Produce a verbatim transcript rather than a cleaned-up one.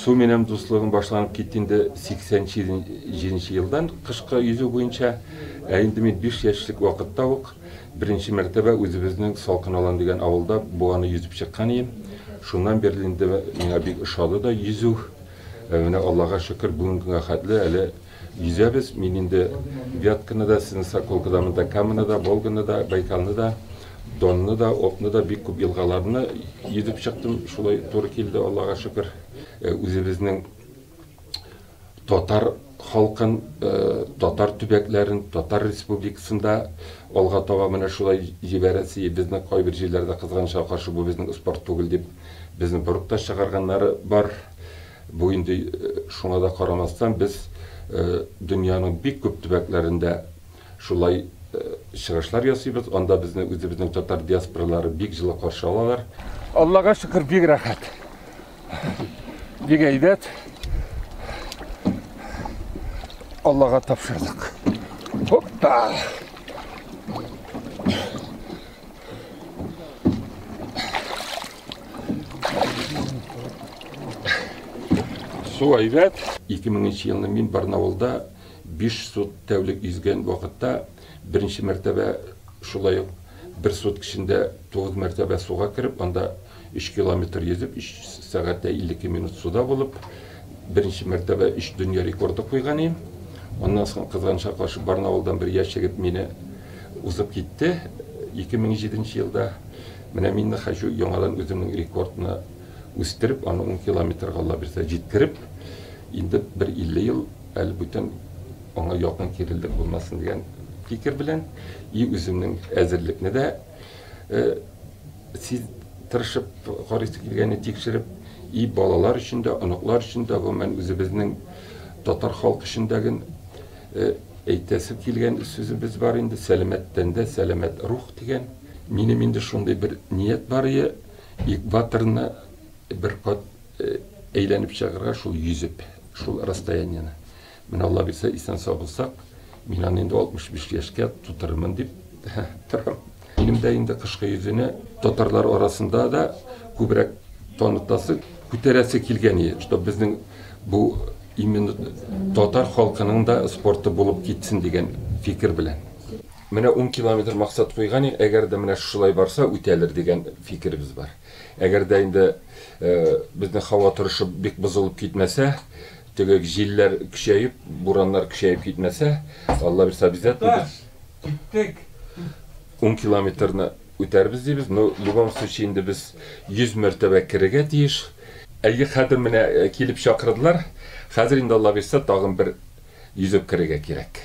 Суу менен дуслугун башланып кеткенде сексен жетинчи жылдан кышкы yüzүү боюнча энди мен беш жаштык убакытта ук биринчи мертебе өзүбүздүн Салкын Алан деген абылда буганы yüзүп чыккан эдим. Шундан бери инде мага бик ошолду да yüzүү. Мына Аллага шүкүр бүгүнгү катлы эле yüzөбүз. Мен инде Вятканы да, сиздин Соколкадамы да, Камыны да, Волганы да, Байкалны да, Донну да, Опну да бик көп жылгаларны yüzүп чыктым. Шулай туура келди, Аллага шүкүр. Өзүбүздүн Татар халкын, татар түбөклөрүн, Татар республикасында алга таба мына шулай жибереси, биздин кой бир жерлерде кызганычка каршы бул биздин спорт түгүл деп биздин бурукташ чыгарганнары бар. Бу инде шуңа да карамастан биз дүйнөнүн бик көп түбөклөрүндө шулай чыгышлар ясыйбыз. Анда биздин өзүбүздүн татар диаспоралары бик жылы каршы алалар. Аллага шүкүр, бик рахат. Бик әйбәт. Аллага тапшырдык. Хопта. Суу әйбәт. эки миңинчи жылы мен Барнаулда беш сут тәулик yüзгөн вакытта биринчи мертебе шулай бир сутка ичинде тогуз мертебе сууга кирип, анда үч километр yüзүп, үч саатта элүү минут суда болуп, биринчи мертебе үч дүйнө рекорду койгон эдим. Ondan sonra kızганычка каршы Барнаулдан бир яш жигит мени узуп кетти. эки миң жетинчи жылда мына мен хашу яңадан өзүмдүн рекордуна өстүрүп, аны он километрге Алла берсе жеткирип, инде бир элүү жыл әле бүтүн аңа якын кирилдик болмасын деген фикир белән и өзүмдүн әзерликне дә сиз тырышып карыйсы килгәнне тикшерип, и балалар өчен дә, оныклар өчен дә, мен өзүбүздүн татар халкы өчен әйтәсе килгән сүзебез бар инде, сәламәттән дә сәламәт рух дигән. Минем инде шундый бер ният бар иде, экваторны бер кат әйләнеп чыгарга, шул yüзүп, шул расстоянияны. Мен Алла берсә исән сау булсак, мен аны инде алтмыш беш яшькә тутырмын дип торам. Минем дә инде кышкы yüзүне татарлар арасында да күбрәк танытасы, күтәрәсе килгән иде, что безнең бу именно татар халкының да спорты булып китсен дигән фикер белән. Менә он километр максат куйган, әгәр дә менә шулай барса үтәлер дигән фикербез бар. Әгәр дә инде безнең һава торышы бик бозылып китмәсә, теге җилләр көчәеп, бураннар көчәеп китмәсә, Алла берсә бездә киттек. он километрны үтәрбез дибез. Но в любом случае инде без yüz мәртәбә кирергә тиеш. Әйе, хәзер менә килеп чакырдылар. Хәзер инде Алла берсә тагын бер yüzүп кирергә кирәк.